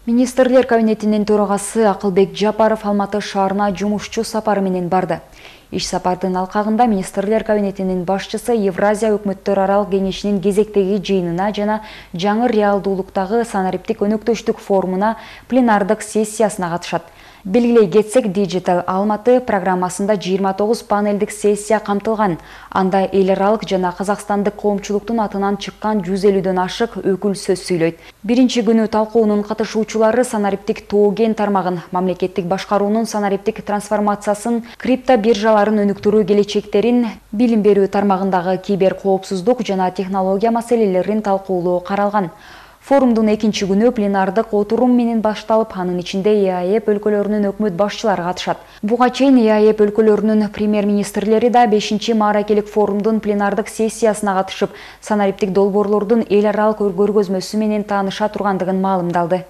Министрлер кабинетинин төрагасы Акылбек Жапаров Алматы шаарына жумушчу сапары менен барды. Иш сапардын алкагында Министрлер кабинетинин башчысы Евразия өкмөттөр аралык кеңешинин кезектеги жыйынына жана жаңы реалдуулуктагы санариптик өнөктөштүк форумуна пленардык сессиясына катышат. Белгилей кетсек, Digital Алматы программасында 29 панелдик сессия камтылган. Анда эл аралык жана казакстандык коомчулуктун атынан чыккан 150дөн ашык өкүл сөз сүйлөйт. Биринчи күнү талкуунун катышуучулары санариптик тоо-кен тармагын, мамлекеттик башкаруунун санариптик трансформациясын, криптобиржаларын өнүктүрүү келечектерин, билим берүү тармагындагы кибер коопсуздук жана технология маселелерин талкуулоо каралган. Форумдун экинчи күнү пленардык отурум менен башталып, анын ичинде ЕАЭП өлкөлөрүнүн өкмөт башчылары катышат. Буга чейин ЕАЭП өлкөлөрүнүн премьер-министрлери да 5-чи мааракелик форумдун пленардык сессиясына катышып, санариптик долбоорлордун эл аралык көргөзмөсү менен тааныша тургандыгын маалымдалды.